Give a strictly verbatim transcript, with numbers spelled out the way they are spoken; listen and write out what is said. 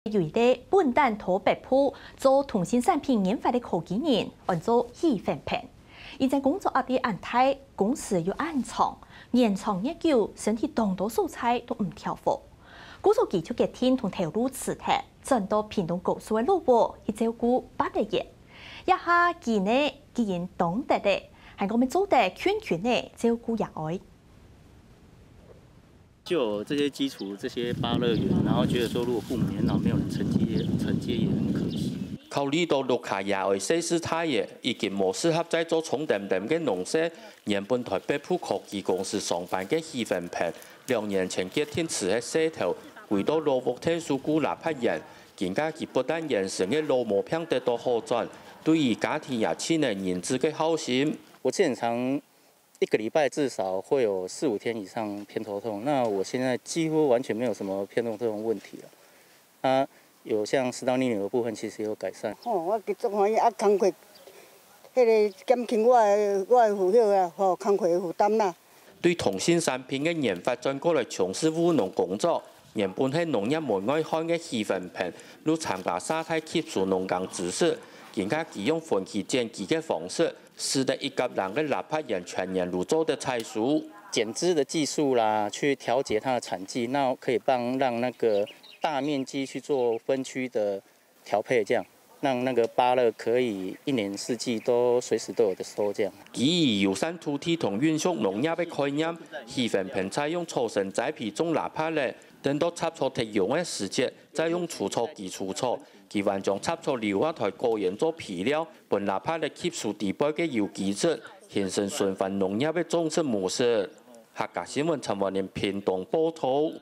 有一個本旦討北埔做同心產品研發个科技人，安做許煥鵬。因為工作壓力恁大，工時又恁長，年長月久，身體當多所在都毋調和。故所佢就決定同頭路辭忒，轉到屏東高樹个老屋去照顧八個月。這下佢呢，既經當得了，還講愛做得勤勤仔照顧爺哀。就有這些基礎，這些芭樂園，然後覺得說，如果父母年老沒有人承接，承接也很可惜。考慮到屋下爺哀歲數大了，已經無適合再做重點點个農事，原本在北埔科技公司上班个許煥鵬，兩年前決定辭忒事頭，歸到老屋𢯭手顧抐桷園。今下佢不但園脣个老毛病得到好轉，對於家庭也盡了仁慈个孝心。我之前常一個禮拜至少會有四五天以上偏頭痛，那我現在幾乎完全沒有什麼偏頭痛的問題了。它有像食道逆流的部分，其實有改善。吼，我足歡喜啊，工課，迄个減輕我的我的負擔啊，吼，工課的負擔啦。對同心產品个研發轉過來從事務農工作，原本係農業門外漢个許煥鵬，又參加社大吸收農耕知識，今下佢用分期轉期个方式， 使得一甲零个抐桷園全年都做得採收。減枝的技術啦，去調節它的產季，那可以幫讓那個大面積去做分區的調配，這樣讓那個芭樂可以一年四季都隨時都有的收這樣。基於友善土地同永續農業个概念，許煥鵬採用草生栽培種抐桷仔，等到插草忒臃个時節，再用除草機除草。佢還將插草留下來果園做肥料，分抐桷仔吸收底背个有機質， 形成循環農業个種植模式。客家新聞陳文林屏東報導。